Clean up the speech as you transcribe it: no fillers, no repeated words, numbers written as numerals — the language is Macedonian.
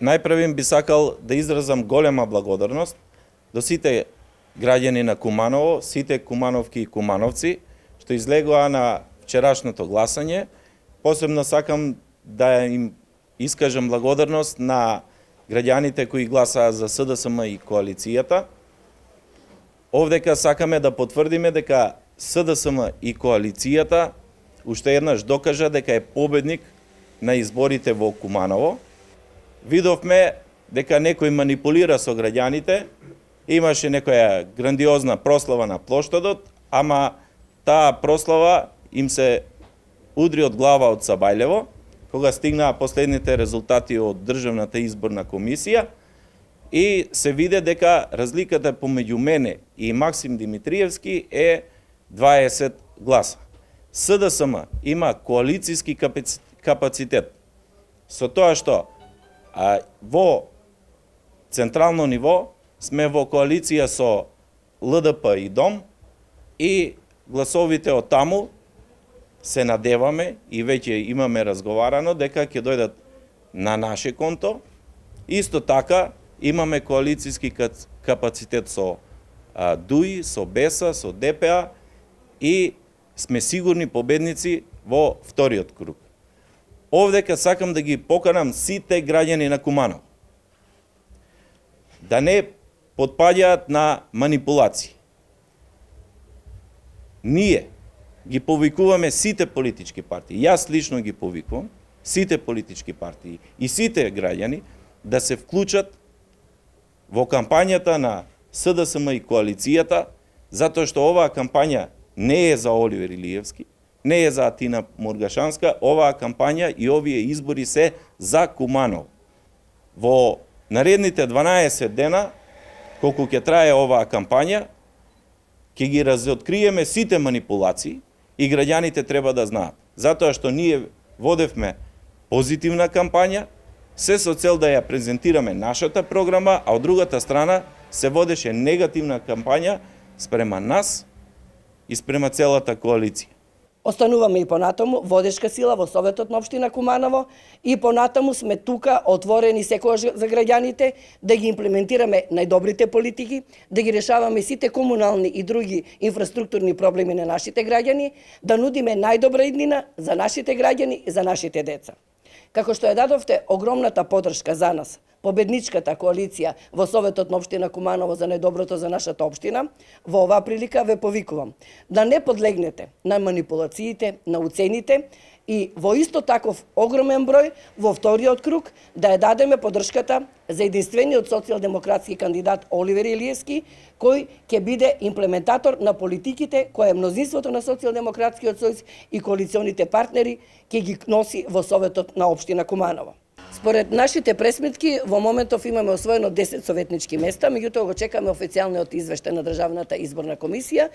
Најпрвим би сакал да изразам голема благодарност до сите граѓани на Куманово, сите кумановки и кумановци, што излегоа на вчерашното гласање. Посебно сакам да им искажам благодарност на граѓаните кои гласаа за СДСМ и коалицијата. Овдека сакаме да потврдиме дека СДСМ и коалицијата уште еднаш докажа дека е победник на изборите во Куманово. Видовме дека некој манипулира со граѓаните, имаше некоја грандиозна прослава на плоштадот, ама таа прослава им се удри од глава од Сабајлево, кога стигнаа последните резултати од Државната изборна комисија и се виде дека разликата помеѓу мене и Максим Димитриевски е 20 гласа. СДСМ има коалицијски капацитет, со тоа што во централно ниво сме во коалиција со ЛДП и ДОМ и гласовите од таму се надеваме и веќе имаме разговарано дека ќе дојдат на наше конто. Исто така имаме коалицијски капацитет со ДУИ, со БЕСА, со ДПА и сме сигурни победници во вториот круг. Овдека сакам да ги поканам сите граѓани на Куманово да не потпаѓаат на манипулации. Ние ги повикуваме сите политички партии, јас лично ги повикувам, сите политички партии и сите граѓани да се вклучат во кампањата на СДСМ и коалицијата, затоа што оваа кампања не е за Оливер Илиевски, не е за Атина Мургашанска, оваа кампања и овие избори се за Куманово. Во наредните 12 дена, колку ќе трае оваа кампања, ќе ги разоткриеме сите манипулации и граѓаните треба да знаат. Затоа што ние водевме позитивна кампања, се со цел да ја презентираме нашата програма, а од другата страна се водеше негативна кампања спрема нас и спрема целата коалиција. Остануваме и понатаму водешка сила во Советот на општина Куманово и понатаму сме тука отворени секогаш за граѓаните да ги имплементираме најдобрите политики, да ги решаваме сите комунални и други инфраструктурни проблеми на нашите граѓани, да нудиме најдобра иднина за нашите граѓани и за нашите деца. Како што ја дадовте огромната поддршка за нас, победничката коалиција во Советот на општина Куманово за најдоброто за нашата општина, во оваа прилика ве повикувам да не подлегнете на манипулациите, на уцените и во исто таков огромен број во вториот круг да ја дадеме поддршката за единствениот социјалдемократски кандидат Оливер Илиевски, кој ќе биде имплементатор на политиките која мнозинството на Социјалдемократскиот сојуз и коалиционите партнери ќе ги носи во Советот на општина Куманово. Според нашите пресметки, во моментов имаме освоено 10 советнички места, меѓутоа го чекаме официјалниот извештај на Државната изборна комисија.